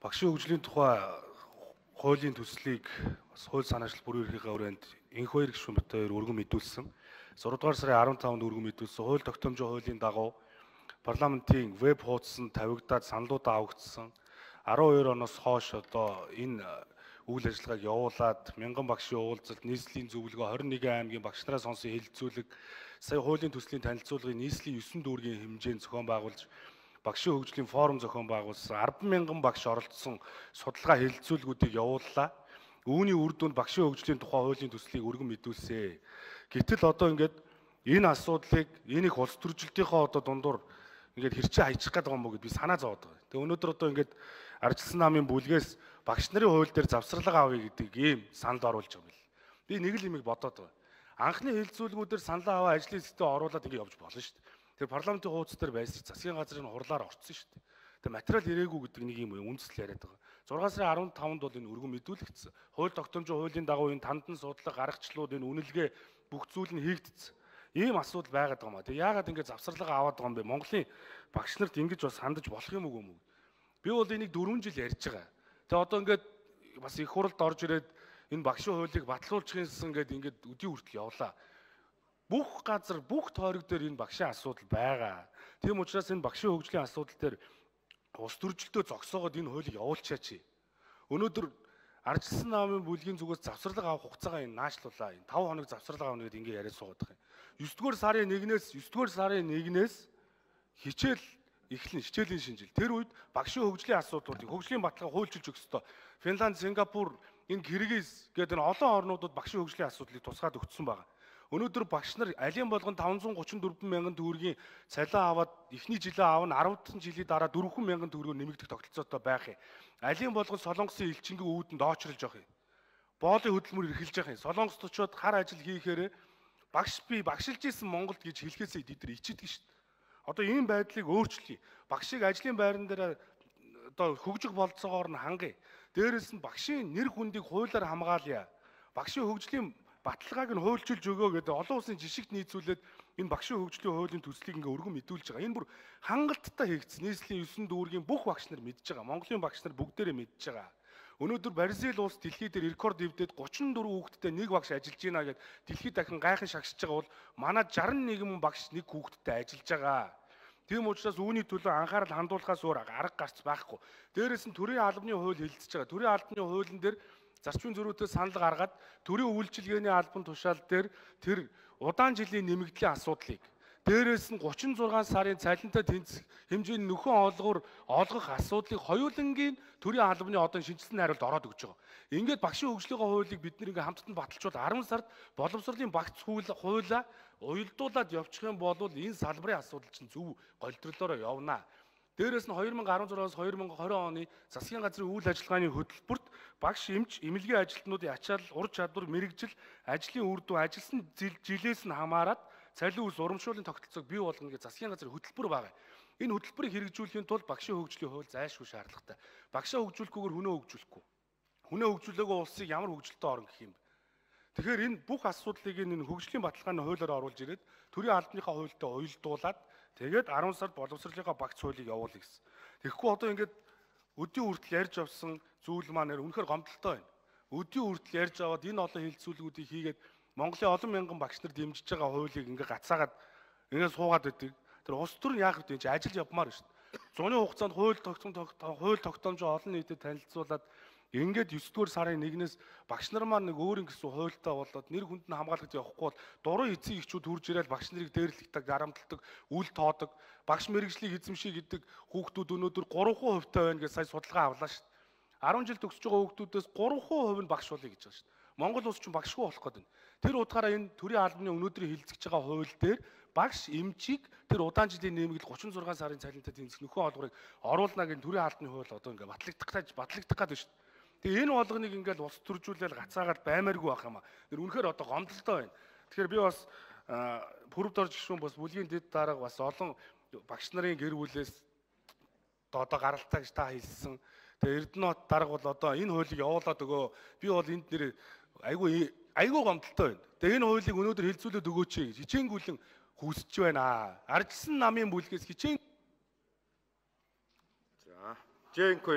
Багшийн хөгжлийн тухай хуулийн төслийг бас хууль санаачлал бүрэн эрхийн хүрээнд энх хоёр гишүүн бит хоёр өргөн мэдүүлсэн. 6 дугаар сарын 15-нд өргөн мэдүүлсэн хууль тогтоомжийн хуулийн дагуу парламентын веб хуудсанд тавигдаад саналуудаа авагдсан. 12 оноос хойш одоо энэ үйл ажиллагааг явуулаад мянган багшийн уулзалт, нийслэлийн зөвлөгөө, 21 аймгийн багш нараа сонсон хэлэлцүүлэг, сая хуулийн төслийн танилцуулгын нийслэлийн 9 дүүргийн хэмжээнд зохион байгуулж багшийн хөгжлийн форум зохион байгуулсан 10,000 багш оролцсон судалгаа хэлэлцүүлгүүдийг явууллаа. Үүний үр дүнд багшийн хөгжлийн тухай хуулийн төслийг өргөн мэдүүлсэн. Гэтэл одоо ингээд энэ асуудлыг энийг улс төржилтийнхөө одоо дундуур ингээд хэрчээ хаячих гээд байгаа юм уу гэд би санаа зовоод байгаа. Тэгээ өнөөдөр одоо ингээд ардчилсан намын бүлгээс багш нарын хууль дээр завсарлага авъя гэдэг ийм санал оруулж байгаа юм бэл. Би нэг л юмыг бодоод байгаа. Анхны хэлэлцүүлгүүдээр санал аваа ажлын хэсэгтээ оруулаад ингээд явж болно шүү дээ. Тэр парламентын хуудас дээр байсан засгийн газрын хурлаар орцсон шүү дээ. Тэр материал ирээгүй гэдэг нэг юм үндэслэл яриад байгаа. 6 сарын 15-нд бол энэ өргөн мэдүүлэгдсэн. Хууль тогтоомжийн хуулийн дагуу энэ тандан судлага, гаргачлууд, энэ үнэлгээ бүх зүйл нь хийгдсэн. Ийм асуудал байгаад байгаа юм аа. Тэг яагаад ингэ завсарлага аваад байгаа юм бэ? Монголын багш нарт ингэж бас хандаж болох юм уу юм? Би бол энийг 4 жил ярьж байгаа. Тэг одоо ингээд бас их хуралд орж ирээд энэ багшийн хуулийг батлуулчихсан ингээд өдий хүртэл явлаа. Бүх газар, бүх тойрог дээр энэ багшийн асуудал байгаа. Тийм учраас энэ багшийн хөгжлийн асуудал дээр улс төржилтөө зогсоогоод энэ хуулийг явуулчаач. Өнөөдөр ардчилсан намын бүлгийн зүгээс завсарлага авах хугацаагаа энэ наашлуулаа. Энэ 5 хоног завсарлага авна гэдээ ингэ яриад суугаад байгаа юм. 9-р сарын 1-ээс хичээл эхлэн хичээлийн шинжил. Тэр үед багшийн хөгжлийн асуудлуудыг хөгжлийн баталгаа хуульчилж өгөх ёстой. Финланд, Сингапур, энэ Киргиз гэдэг энэ олон орнуудад багшийн хөгжлийн асуудлыг тусгаад өгсөн байгаа. Өнөөдөр багш нар алийн болгон 534 мянган төгрөгийн цалин аваад эхний жилээ аавна 10 дахь жилийн дараа 4 мянган төгрөгөөр нэмэгдэх тогтолцоотой байх юм. Алийн болгон Солонгосын элчингийн үүдэнд доочролж явах юм. Боолын хөдөлмөр эрхэлж явах юм. Солонгост очиод хар ажил хийхээр багшилж исэн Монголд гэж хэлхээсээ тэд ичдэг шүү дээ. Одоо ийм байдлыг өөрчлөе. Багшийг ажлын байран дээр одоо хөгжих болцоогоор нь хангая. Дээрээс нь багшийн нэр хүндийг хуулиар хамгаалъя. Багшийн хөгжлийн баталгааг нь хуульчилж өгөө гэдэг олон улсын жишгт нийцүүлээд энэ багшийн хөгжлийн хуулийн төслийг ингээ өргөн мэдүүлж байгаа. Энэ бүр хангалттай хийгдсэн. Нийслэлийн 9 дүүргийн бүх багш нар мэдж байгаа. Монголын багш нар бүгдээрээ мэдж байгаа. Өнөөдөр Бразил улс дэлхийд дээр рекорд дэвдээд 34 хүүхэдтэй нэг багш ажиллаж байна гэд дэлхийд дахин гайхан шагшиж байгаа бол манай 61 багш нэг хүүхэдтэй ажиллаж байгаа. Тийм учраас үүний төлөө анхаарал хандуулахаас өөр арга гарц байхгүй. Дээрээс нь төрийн албаны хууль хэлэлцэж байгаа. Төрийн албаны хуулийн дээр зарчмын зөрүүтэй санал гаргаад төрийн үйлчилгээний албан тушаал дээр тэр удаан жилийн нэмэгдлийн асуудлыг дээрээс нь 36 сарын цалинтай тэнцэх хэмжээний нөхөн олгох асуудлыг хоёулангийн төрийн албаны одоо шинжилсэн найруулалд ороод өгч байгаа. Ингээд багшийн хөгжлийн хуулийг бид нэр ингээ хамтдаа баталчвал 10 сард боловсролын багц хуулаа уялдуулаад явчих юм бол энэ салбарын асуудал чинь зөв голдролоороо явнаа. Дээрээс нь 2016-аас 2020 оны засгийн газрын үйл ажиллагааны хөтөлбөрт багш эмч, эмнэлгийн ажилтнуудын ачаал, ур чадвар, мэрэгжил, ажлын үр дүн, ажилласан жилээс нь хамаарат цалин үс урамшууллын тогтолцоог бий болгоно гэж засгийн газрын хөтөлбөр байгаа. Энэ хөтөлбөрийг хэрэгжүүлэхийн тулд багшийн хөгжлийн хууль зайлшгүй шаардлагатай. Багшаа хөгжүүлэхгүйгээр хүнөө хөгжүүлэхгүй. Хүнөө хөгжүүлээгүй улсыг ямар хөгжилтэй орн гэх юм бэ? Тэгэхээр энэ бүх асуудлыг энэ хөгжлийн баталгааны хуулиар оруулж ирээд төрийн албаныхаа хуультай уялдуулаад тэгээд 10 сард боловсролынхаа багц хуулийг явуулъя гэсэн. Тэгэхгүй одоо ингээд өдийн хүртэл ярьж авсан зүйл маань үнэхээр гомдолтой байна. Өдийн хүртэл ярьж аваад энэ олон хэлэлцүүлгүүдийг хийгээд Монголын олон мянган багш нар дэмжиж байгаа хуулийг ингээд гацаагаад ингээд суугаад байдаг. Тэр улс төр нь яах вэ? Чи ажил явмаар шүү дээ. Зуны хугацаанд хууль тогтоомжоо олон нийтэд танилцуулаад ингээд 9-р сарын 1-ээс багш нар маань нэг өөр ингэсэн хуультай болоод нэр хүнд нь хамгаалагдаж явахгүй бол дуруу эцэг эхчүүд хурж ирээд багш нарыг дээрлэгдэг, дарамтлагдаг, үл тоодог, багш мэргэжлийг эзэмших гэдэг хүүхдүүд өнөөдөр 3% байна гэж сая судалгаа авлаа шүү дээ. 10 жил төгсөж байгаа хүүхдүүдээс 3% нь багш болъё гэж байгаа шүү дээ. Монгол улс чинь багшгүй болох гээд байна. Тэр утгаараа энэ төрийн албаны өнөөдрийн хэлэлцэж байгаа хууль дээр багш эмчийг тэр удаан жилийн нэмэгдэл 36 сарын цалинтай тэнцэх нөхөн олгорыг оруулна гэж төрийн албаны хууль одоо ингээ батлагдах гээд шүү дээ. Тэгээ энэ болгоныг ингээл улс төржүүлэл гацаагаад баймааргүй байх юм аа. Тэр үнэхээр одоо гомдолтой байна. Тэгэхээр би бас пүрэвд орж гişүүн бас бүлгийн дэд дарга бас олон багш нарын гэр бүлээс одоо гаралтай гэж та хэлсэн. Тэгээ Эрдэнэт дарга бол одоо энэ хуулийг явуулаад өгөө. Би бол энд нэр айгүй гомдолтой байна. Тэгээ энэ хуулийг өнөөдөр хэлцүүлээд өгөөч гэж хичээнгүйлэн хүсэж байна. Ардчилсан намын бүлгээс хичээн. За, Жэнко